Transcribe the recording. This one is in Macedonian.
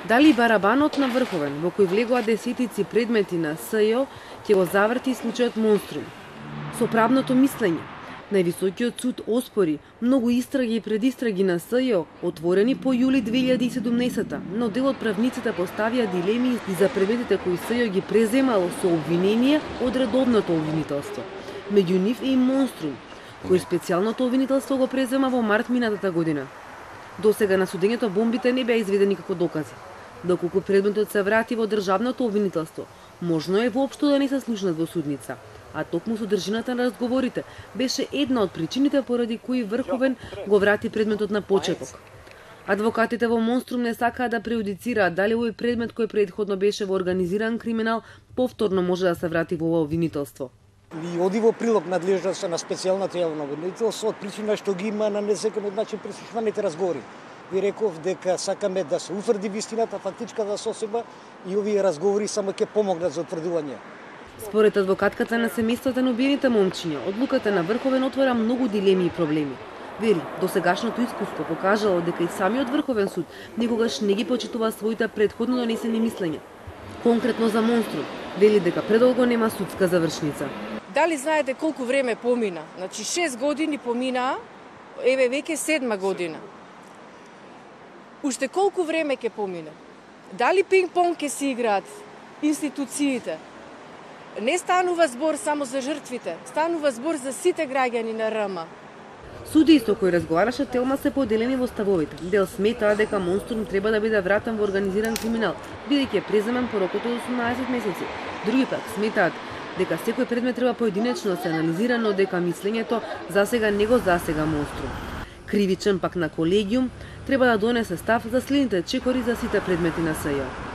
Дали барабанот на Врховен, во кој влегоа десетици предмети на СЈО, ќе го заврти случајот Монструм? Со правното мислење, највисокиот суд оспори многу истраги и предистраги на СЈО, отворени по јули 2017, но дел од правниците поставија дилеми и за предметите кои СЈО ги преземало со обвинение од редовното обвинителство. Меѓу нив е и Монструм, кој специјалното обвинителство го презема во март минатата година. Досега на судењето бомбите не беа изведени како докази. Доколку предметот се врати во државното обвинителство, можно е воопшто да не се слушнат во судница, а токму содржината на разговорите беше една од причините поради кои Врховен го врати предметот на почеток. Адвокатите во Монструм не сакаат да преюдицираат дали овој предмет кој претходно беше во организиран криминал повторно може да се врати во обвинителство. Ви оди во прилог надлежноста на специјалната јавна обвинителство од причина што ги има на незаконет начин преслушуваните разговори. Ви реков дека сакаме да се утврди вистината, фактичката соседба и овие разговори само ќе помогнат за утврдување. Според адвокатката на семејствата на убиените момчиња, одлуката на Врховен отвора многу дилеми и проблеми. Вели, досегашното искуство покажало дека и самиот Врховен суд никогаш не ги почитува своите претходно донесени мислења. Конкретно за Монструм, вели дека предолго нема судска завршница. Дали знаете колку време помина? Значи 6 години поминаа, еве веќе 7 година. Уште колку време ќе помине? Дали пинг-понг ќе се играат институциите? Не станува збор само за жртвите, станува збор за сите граѓани на РМ. Судии со кои разговараше Телма се поделени во ставовите. Дел сметаа дека Монструм треба да биде вратен во организиран криминал, бидејќи е преземен по рокот од 18 месеци. Други пак сметаат дека секој предмет треба поединечно да се анализира, но дека мислењето засега не го засега Монструм. Кривичен пак на колегиум треба да донесе став за следните чекори за сите предмети на СЈО.